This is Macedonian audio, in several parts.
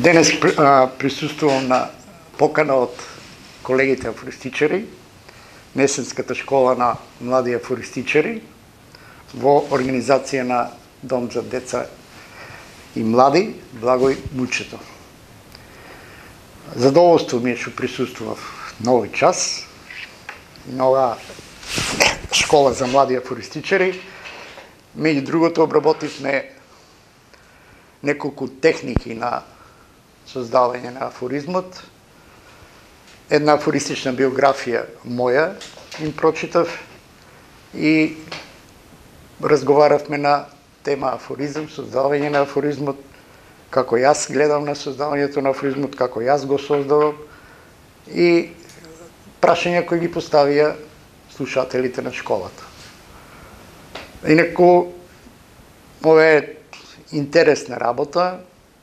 Денес присуствувам на покана од колегите афористичари, Несенската школа на млади афористичари, во организација на Дом за деца и млади Благој Мучето. Задоволство ми е што присуствував на овој час на оваа школа за млади афористичари. Меѓу другото обработивме неколку техники на создавање на афоризмот. Една афористична биографија моја им прочитав и разговаравме на тема афоризм, создавање на афоризмот, како јас гледам на создавањето на афоризмот, како јас го создавам и прашања кои ги поставија слушателите на школата. Инаку, ова е интересна работа,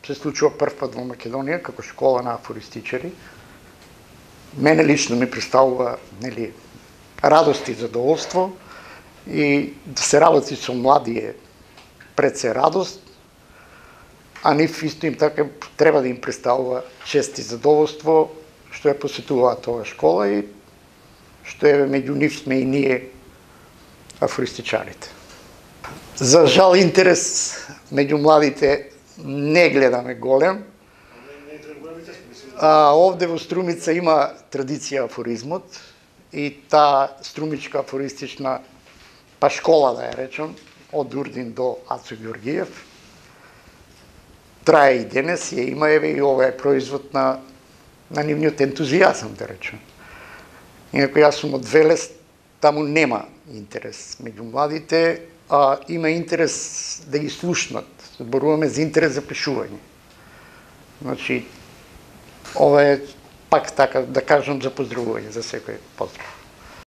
се случува прв пат во Македонија како школа на афористичари. Мене лично ми представува радост и задоволство и да се работи со млади е пред се радост, а нив исто им така треба да им представува чест и задоволство што ја посетуваат оваа школа и што е меѓу нив сме и ние афористичарите. За жал интерес меѓу младите не гледаме голем. Овде во Струмица има традиција афоризмот и таа струмичка афористична школа, да ја речам, од Урдин до Ацо Ѓоргиев, трае и денес, ја има, еве и ова е производ на нивниот ентузијазам, да речем. Инаку јас сум од Велес, таму нема интерес меѓу младите, а има интерес да ги слушнат. Зборуваме за интерес за пишување. Значи, ова е пак така, да кажам, за поздравување за секој поздрав.